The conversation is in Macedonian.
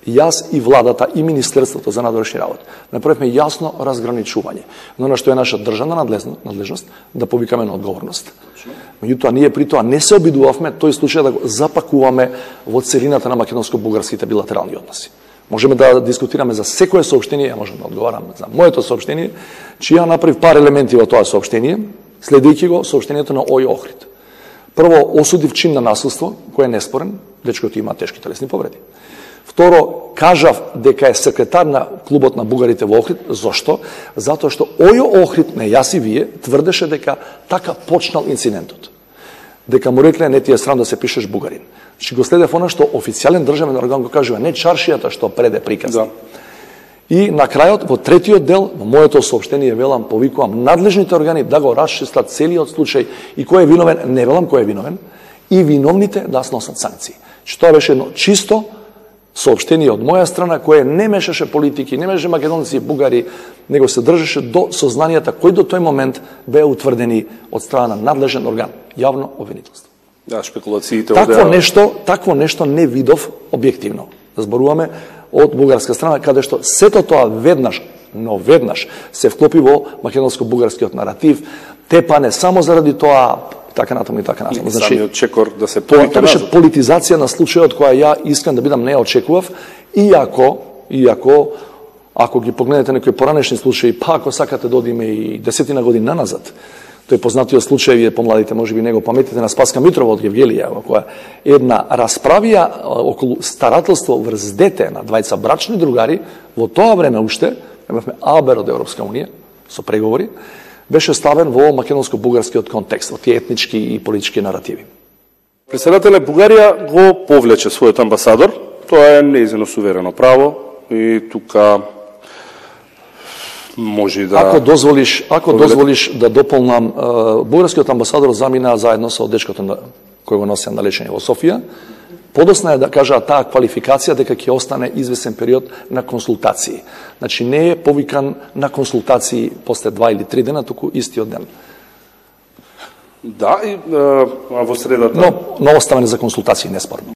Јас и владата и Министерството за надворешни работи направивме јасно разграничување на она што е наша државна надлежност да повикаме на одговорност. Меѓутоа ние при тоа не се обидувавме тој случај да го запакуваме во целината на македонско-бугарските билатерални односи. Можеме да дискутираме за секое соопштение, ја можам да одговарам за моето соопштение, че ја направив пар елементи во тоа соопштение, следејќи го соопштението на ОЈ Охрид. Прво, осудив чин на насилство, кој е неспорен, дечкото има тешки телесни повреди. Второ, кажав дека е секретар на клубот на бугарите во Охрид. Зошто? Затоа што ОЈ Охрид, не јас и вие, тврдеше дека така почнал инцидентот. Дека му рекле, не ти е срам да се пишеш бугарин. Значи го следев она што официјален државен орган го кажува, не чаршијата што преде приказ. Да. И на крајот, во третиот дел, во моето соопштение велам, повикувам надлежните органи да го расчистат целиот случај и кој е виновен, не велам кој е виновен, и виновните да сносат санкции. Че тоа беше едно чисто соопштение од моја страна, кое не мешаше политики, не мешаше македонци и бугари, него се држеше до сознанијата кои до тој момент беа утврдени од страна на надлежен орган, јавно обвинителство. Да, шпекулациите такво нешто не видов објективно. Зборуваме од бугарска страна, каде што сето тоа веднаш се вклопи во македонско-бугарскиот наратив, тепане само заради тоа, така натаму и така натаму. Значи, самиот чекор да се тоа беше политизација на случајот која ја искам да бидам не очекував, иако ако ги погледнете некои поранешни случаи, па ако сакате да одиме и 10 години назад, тој познатиот случај, вие помладите можеби не го паметите, на Спаска Митрова од Гевгелија, во која една расправија околу старателство врз дете на двајца брачни другари, во тоа време уште, имавме Албер од Европска Унија, со преговори, беше ставен во македонско-бугарскиот контекст, во тие етнички и политички наративи. Председателе, Бугарија го повлече својот амбасадор, тоа е нејзино суверено право и тука може да... Ако дозволиш да дополнам, бугарскиот амбасадор замина заедно со дечкото кој го носеа на лечење во Софија. Подосна е да кажа таа квалификација дека ќе остане извесен период на консултации. Значи не е повикан на консултации после 2 или 3 дена, туку истиот ден. Да, и во средата... Но оставане за консултации, неспорно.